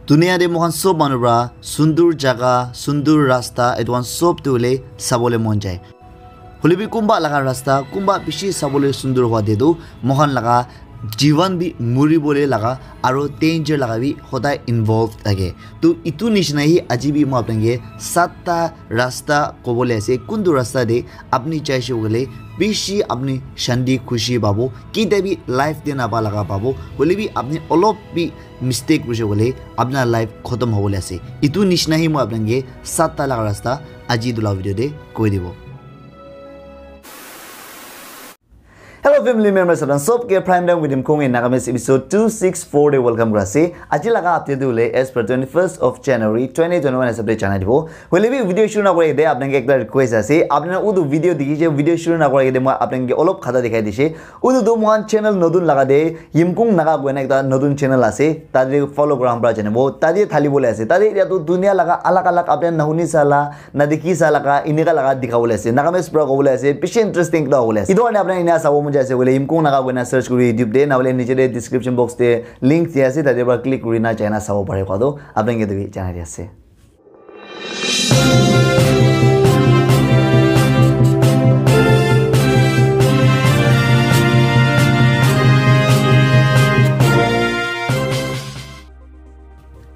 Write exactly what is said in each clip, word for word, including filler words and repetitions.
Dunia te moikhan sob manu pra sundur jaga, sundur rasta, etu khan sob tu hoile sabole mon jai. Hoile bi kunba laga rasta, kunba bishi sabole sundur hwa te tu moikhan laga jivan bi muri bole laga aro danger laga bi hodai involved thake. To itu nishina hi aji bi moi apnange satta rasta kobole ase. Kuntu rasta te apni jaise koile bishi apni shanti khushi pabo. Kete bi life te napa laga pabo. Hoile bi apni olop bi mistake kurise koile apna life khotom hobole ase. Itu nishina hi moi apnange satta laga rasta aji etu la video te koi dibo. Hello family members, apna sob ke Prime Time with Yimkung in Nagamese episode two six four te welcome kura ase. Aji laga update tu hoile as per twenty-first of January twenty twenty-one hisab te janai dibo. Hoile bi video shuru na kore de apnange ekta request ase. Apna utu video dikhi je, video shuru na kore de moi apnange olop khata dikhai dise. Utu tu mohan channel notun laga de Yimkung Naga koina ekta notun channel ase. Tate follow kura pra janibo. Tate thali bole ase. Tate etia tu dunia laga alag alag apna nahuni sala na dikhi sa laga, inika laga dikha bole ase. Nagamese pra kobole ase, bishi interesting ekta hobole ase. Etu karne apna ina sabo mon jai ase koile, Yimkung Naga koina search kuri YouTube te, na hoile niche te description box te link dia ase, tate pra click kuri na jai na sabo pare koa tu apna ke tu bi janai di ase.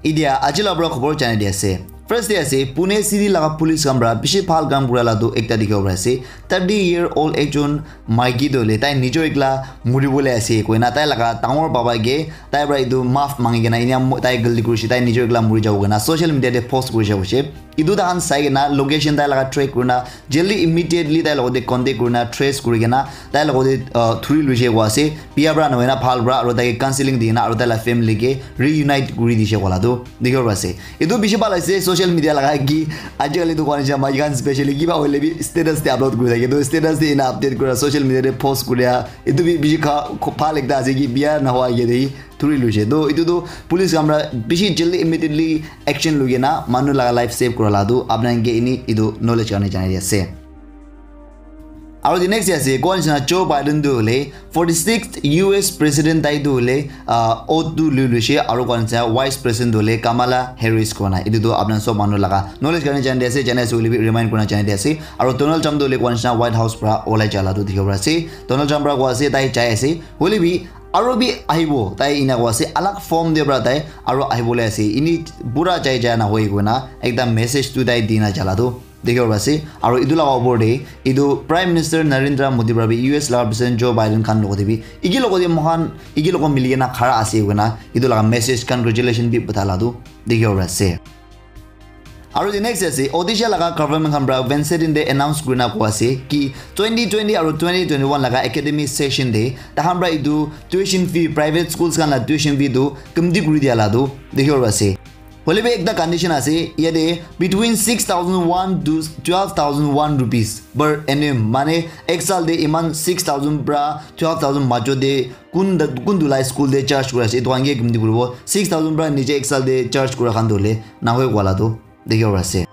Idia aji la pra khobor janai di ase. First te ase, Pune city laga police khan pra bishi bhal kam kura la tu ekta dikhibo pari ase. Thirty year old ekjon maiki tu hoile tai nijor ekla muri bole ase koina tai laga dangor baba ke tai pra etu maaf mangi kena enia mo-, tai galti kurise, tai nijor ekla muri jabo koina social media te post kurise hoise. Etu tahan sai kena location tai laga track kurina jaldi immediately tai logote contact kurina trace kuri kena tai logote, uh, thuri luise koa ase. Biya pra nohoina bhal pra aro tai ke counseling di kena aro tai la family ke reunite kuri dise koa la tu dikhibo pari ase. Etu bishi bhal ase social media laga ki ajikali tu koa nishina maiki khan specially kiba hoile bi status te upload kuri thake. Tu status te ena update kura, social media te post kura, etu bi bishi kha-, kho-, bhal ekta ase ki biya nohoa ke de thuri luise. To etu tu police khan pra bishi jaldi immediately action lui kena manu laga life save kura la tu apna ke ini etu knowledge karne janai di ase. Aro the next ase, koa nishina Joe Biden tu hoile forty-sixth U S president tai tu hoile, ah, oath tu lui luise, aro koa nishina vice president tu hoile Kamala Harris koina. Etu tu apna sob manu laga knowledge karne janai di ase, janai ase hoile bi remind kurna janai di ase. Aro Donald Trump tu hoile koa nishina White House pra olai jala tu dikhibo pari ase. Donald Trump pra koa ase tai jai ase, hoile bi aro bi ahibo, tai ena koa ase, alag form te pra tai aro ahibole ase. Ini pura jai jai na hoi koina ekta message tu tai dina jala tu dikhibo pari ase. Aro etu laga opor te etu Prime Minister Narendra Modi pra bi U S laga President Joe Biden khan logote bi eki logote moikhan eki logo mili kena khara ase koina etu laga message congratulation bi patha la tu dikhibo pari ase. Aro the next ase, Odisha laga government khan pra Wednesday din te announce kurina koa ase ki twenty twenty aro twenty twenty-one laga academic session te tahan pra etu tuition fee, private schools khan la tuition fee tu kamti kuri dia la tu dikhibo pari ase. Hoile bi ekta condition ase, yate between six thousand one to twelve thousand one rupees per annum, mane ek saal te iman six thousand pra twelve thousand majo te kun, kuntu la school te charge kuri ase, etu khan ke kamti kuribo, six thousand pra niche ek saal te charge kura khan tu hoile nahoi koa la tu dikhibo pari ase.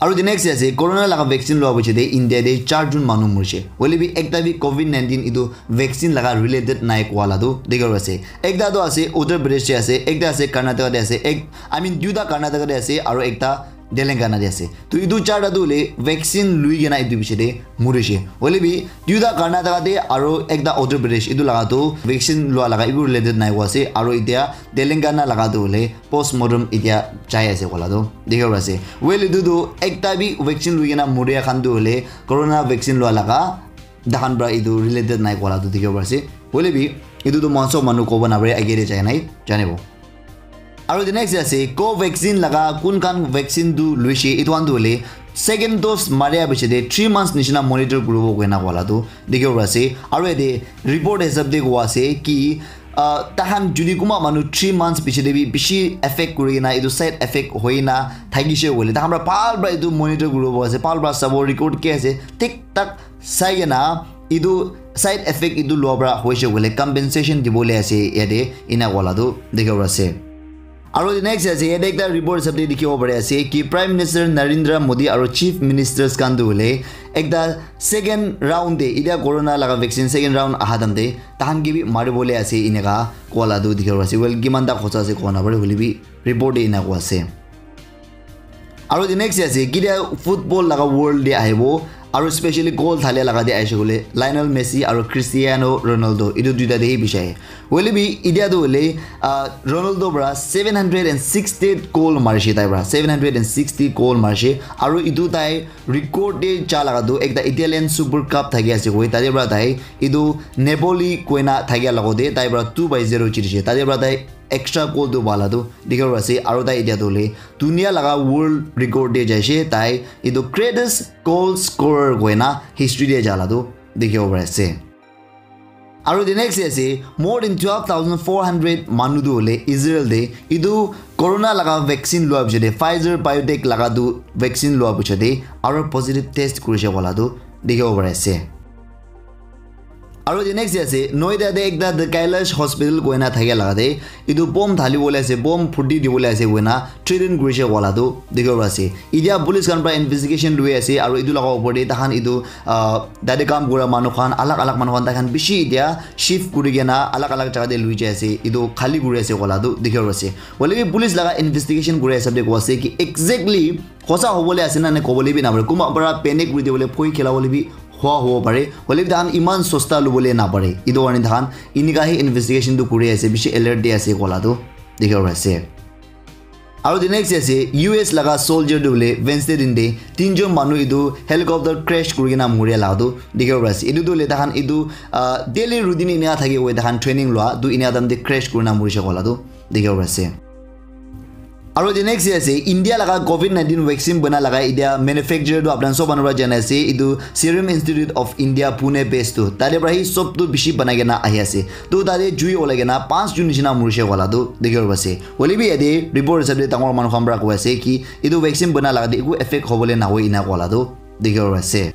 Aro the next ase, corona laga vaccine lua piche te India te char jon manu morise. Hoile bi ekta bi covid nineteen etu vaccine laga related nai koa la tu dikhibo pari ase. Ekta tu ase Uttar Pradesh te ase, ekta ase Karnataka te ase, ek, I mean duita Karnataka te ase aro ekta Telangana te ase. To etu charta tu hoile vaccine lui kena etu piche te morise. Hoile bi duita Karnataka te aro ekta Uttar Pradesh etu laga tu vaccine lua laga eku related nai koa ase aro etia Telangana laga tu hoile postmortem etia jai ase koa la tu dikhibo pari ase. Well, etu tu ekta bi vaccine lui kena moria khan tu hoile corona vaccine lua laga tahan pra etu related nai koa la tu dikhibo pari ase. Hoile bi etu tu moikhan sob manu kobo napare, age te jai nai janibo. Aro the next ase, Covaxin laga kun khan vaccine tu luise, etu khan tu hoile second dose maria piche te three months nishina monitor kuribo koina koa la tu dikhibo pari ase. Aro yate report hisab te koa ase ki, ah, tahan jodi kunba manu three months piche te bi bishi effect kuri kena, etu side effect hoi na thakise koile, tahan pra bhal pra etu monitor kuribo ase, bhal pra sabo record ki ase, thik thak sai kena etu side effect etu lua pra hoise koile compensation dibole ase yate, ena koa la tu dikhibo pari ase. Aro the next ase, yate ekta report hisab te dikhibo pari ase ki Prime Minister Narendra Modi aro Chief Ministers khan tu hoile ekta second round te, itia corona laga vaccine second round aha time te tahan ke bi maribole ase, eneka koa la tu dikhibo pari ase. Well, kiman ta khosa ase koa na pare, hoile bi report te ena koa ase. Aro the next ase, kitia football laga world te ahibo, aro specially goal thalia laga te ahishe koile Lionel Messi aro Cristiano Ronaldo, etu duita te hi bishi ahe. Hoile bi, itia tu hoile, ah, Ronaldo para seven hundred and sixty goal marishe, tai para seven hundred and sixty goal marishe, aro etu tai record te ja laga tu ekta Italian Super Cup thaki ase koi, tate para tai etu Napoli koina thakia lagote tai para two by zero jitishe, tate para tai extra goal tu pala tu dikhibo pari ase, aro tai itia tu hoile dunia laga world record te jaishe, tai etu greatest goal scorer koina history te jala tu dikhibo pari ase. Aro the next ase, more than twelve thousand four hundred manu tu hoile Israel te etu corona laga vaccine lua piche te, Pfizer BioNTech laga tu vaccine lua piche te aro positive test kurishe koa la tu dikhibo pari ase. Aro the next ase, Noida te ekta The Kailash Hospital koina thakia laga te etu bomb dhali bole ase, bomb phuti dibole ase koina threaten kurishe koa la tu dikhibo pari ase. Itia police khan para investigation lui ase, aro etu laga upor te tahan etu, ah, tate kam kura manu khan, alag alag manu khan, tai khan bishi itia shift kuri kena alag alag jaga te lui jai ase, etu khali kuri ase koa la tu dikhibo pari ase. Hoile bi police laga investigation kuri hisab te koa ase ki exactly hosa hobole ase na, ne kobole bi na pare. Kunba para panic kuri dibole, phoi khela bole bi hua hobo pare. Hoile bi tahan iman sosta lubole na pare. Etu karne tahan inika hi investigation tu kuri ase, bishi alert te ase koa la tu dikhibo pari ase. Aro the next ase, U S laga soldier tu hoile Wednesday din te tinjon manu etu helicopter crash kuri kena muria la tu dikhibo pari ase. Etu tu hoile tahan etu, ah, daily routine ena thaki hoi, tahan training lua tu ena time te crash kurina murishe koa la tu dikhibo pari ase. Aro the next ase, India laga covid nineteen vaccine bana laga itia manufacturer tu apni khan sob manu para jana ase, etu Serum Institute of India Pune based tu. Tate para hi sob tu bishi banai kena ahi ase. Tu tate jui olai kena panch jun nishina murishe koa la tu dikhibo pari ase. Hoile bi yate report hisab te dangor manu khan para koi ase ki etu vaccine bana laga te eku effect hobole na hoi ena koa la tu dikhibo pari ase.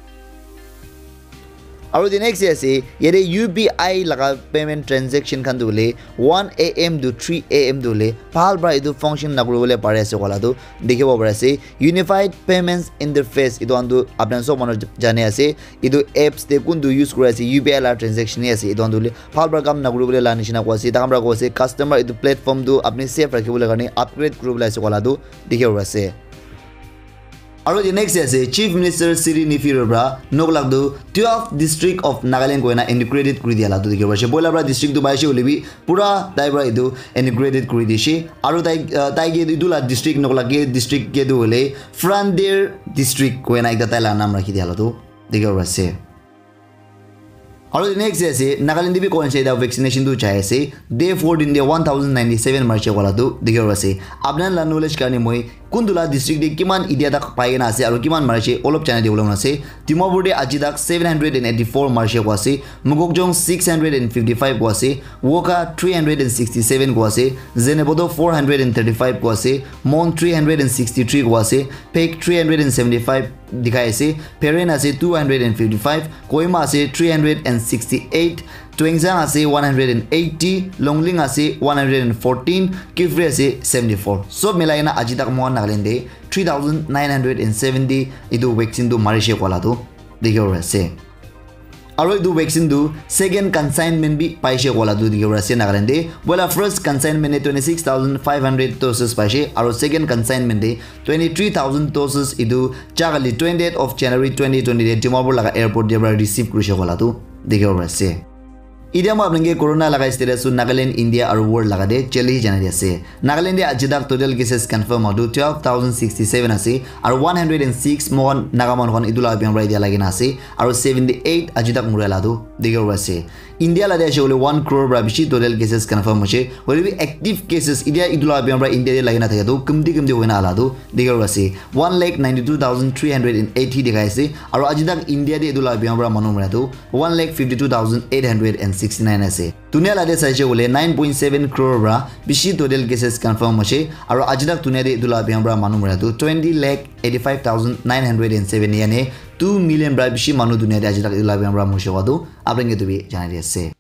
Aro the next ase, yate U P I laga payment transaction khan tu hoile one A M to three A M tu hoile bhal para etu function na kuri bole pari ase koa la tu dikhibo pari ase. Unified Payments Interface, etu khan tu apni khan sob manu jane ase. Etu apps te kuntu use kuri ase, U P I laga transaction hi ase, etu khan tu hoile bhal para kam na kuri bole la nishina koa ase. Takhan para koa ase, customer etu platform tu apni safe rakhi bole karne upgrade kuri bole ase koa la tu dikhibo pari ase. Aro the next ase, Chief Minister Sri Neiphiu para nok lak tu twelve district of Nagaland koina integrated kuri dia la tu dikhibo pari ase. Poila para district tu pai ase hoile bi pura tai para etu integrated kuri dishe. Aro tai, ah, tai ke etu la district nok lak ke district ke tu hoile Frontier District koina ekta tai la naam rakhi dia la tu dikhibo pari ase. Aro the next day ase, Nagaland te bi coincided vaccination tu jai ase. Day four din te one thousand ninety seven marishe koa la tu dikhibo pari ase. Apni khan la knowledge karne moi kuntu la district te kiman itia tak pai kena ase aro kiman marishe olop janai dibole mon ase. Dimapur te aji tak seven hundred and eighty four marishe koa ase. Mokokchung six hundred and fifty five koa ase. Wokha three hundred and sixty seven koa ase. Zunheboto four hundred and thirty five koa ase. Mon three hundred and sixty three koa ase. Phek three hundred and seventy five dikhai ase. Peren ase two hundred and fifty five, Kohima ase three hundred and sixty eight, Tuensang ase one hundred and eighty, Longleng ase one hundred and fourteen, Kiphire ase seventy four. Sob milai kena aji tak moikhan Nagaland te three thousand nine hundred and seventy etu vaccine tu marishe koa la tu dikhibo pari ase. Aro etu vaccine tu second consignment bi paishe koa la tu dikhibo pari ase Nagaland te. Poila first consignment te twenty six thousand five hundred doses paishe, aro second consignment te twenty three thousand doses etu jai kali twentieth of January twenty twenty te Dimapur laga airport te para receive kurishe koa la tu dikhibo pari ase. Itia moi apni khan ke corona laga status tu Nagaland, India aru world laga te jali janai di ase. Nagaland te aji tak total cases confirm hotu twelve thousand sixty seven ase, aru one hundred and six mohan Naga manu khan etu laga bimaar para itia lagi na ase, aru seventy eight aji tak muria la tu dikhibo pari ase. India la te ase koile one crore para bishi total cases confirm hoise. Hoile bi active cases itia etu laga bimaar para India te lagi na thaka tu kumti kumti hoina ala tu dikhibo pari ase. One lakh ninety two thousand three hundred and eighty dikhai ase. Aru aji tak India te etu laga bimaar para manu mara tu one lakh fifty two thousand eight hundred and sixty nine ase. Dunia la te saise koile nine point seven crore para bishi total cases confirm hoise. Aru aji tak dunia te etu laga bimaar para manu mara tu twenty lakh eighty five thousand nine hundred and seven, yani two million para bishi manu dunia te aji tak etu laga bimaar para morise koa tu apni khan ke etu bi janai di ase.